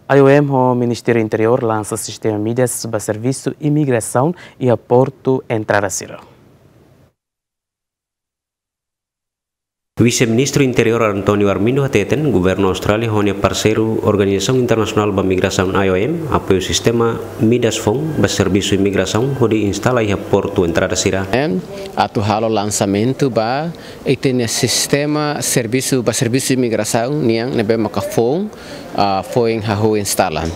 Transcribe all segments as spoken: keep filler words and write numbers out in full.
I O M ho Ministériu Interiór lansa sistema Midas ba servisu imigrasaun iha portu entrada sira. Vise-Ministru Interiór António Armindo hateten, Governu Austrália ho nia parseiru Organizasaun Internasionál ba Migrasaun, I O M, apoiu sistema Midas foun ba servisu imigrasaun hodi instala iha portu entrada sira. Em, atu halo lansamentu ba ita-nia sistema servisu, ba servisu imigrasaun nian ne'ebé maka foun, ah, foin hahú instala.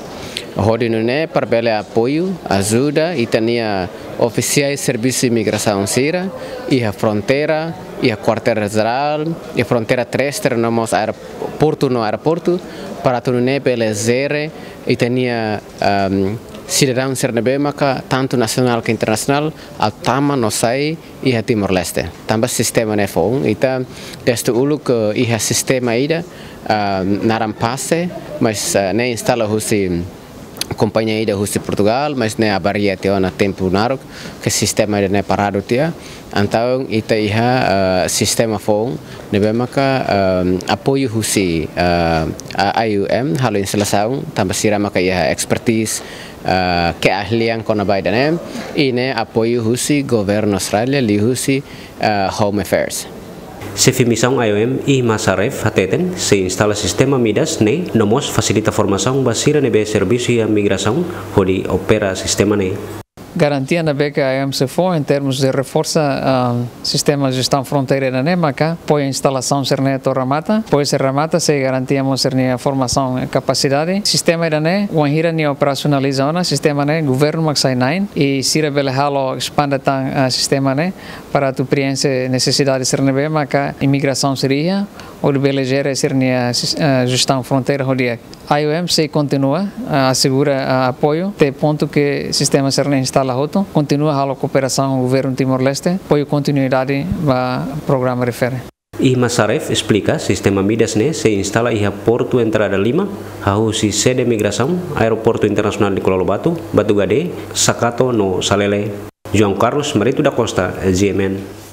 Hodi nune'e para bele apoiu, ajuda ita-nia ofisiais servisu imigrasaun sira iha fronteira, iha kuartél jerál, iha fronteira terrestre no mós aeroportu no aeroportu, para atu nune'e bele jere ita-nia, ehm, sidadaun sira ne'ebé maka tantu nasionál ka internasionál atu tama no sai iha Timor-Leste. Tanba sistema ne'e foun, ita dezde uluk, eh, iha sistema ida, ah, naran PASE, mas, eh, ne'e instala husi kompañia ida husi Portugal, mas ne'e avaria tiha ona tempu naruk, ke sistema ida-ne'e paradu tiha. Entaun ita iha, eh, sistema foun ne'ebé maka, eh, apoiu husi, eh, a-, I O M halo instalasaun, tanba sira maka iha expertise, eh, keahlian kona-ba ida-ne'e, i ne'e apoiu husi Governu Austrália, liuhusi, eh, Home Affairs. Xefe Misaun I O M, Ihma Saref, hateten, sei instala sistema Midas ne'e no mós fasilita formasaun ba sira ne'ebé servisu iha migrasaun hodi opera sistema ne'e. Garantia ne'ebé ke I O M sei fó em termos de reforsa, ah, sistema jestaun fronteira ida-ne'e maka apoiu instalasaun sira-ne'e to'o remata, apoiu sei remata sei garantia mós sira-nia formasaun i kapasidade. Sistema ida-ne'e, wainhira nia operasionaliza ona, sistema ne'e governu mak sai na'in, i sira bele halo espande tan, ah, sistema ne'e, para atu prienxe nesesidade sira ne'ebé maka imigrasaun sira iha, hodi bele jere sira-nia sis-, ah, jestaun fronteira ho di'ak. I O M sei kontinua, ah, asegura, ah, apoiu, até pontu ke sistema sira-ne'e instala hotu, kontinua halo kooperasaun ho governu Timor-Leste, apoiu kontinuidade ba programa refere. Ihma Saref esplika, sistema Midas ne'e sei instala iha portu entrada lima, hahú husi sede migrasaun, Aeroportu Internasionál Nicolau Lobato, Batugade, Sakato no Salele. João Carlos Marito da Costa, G M N.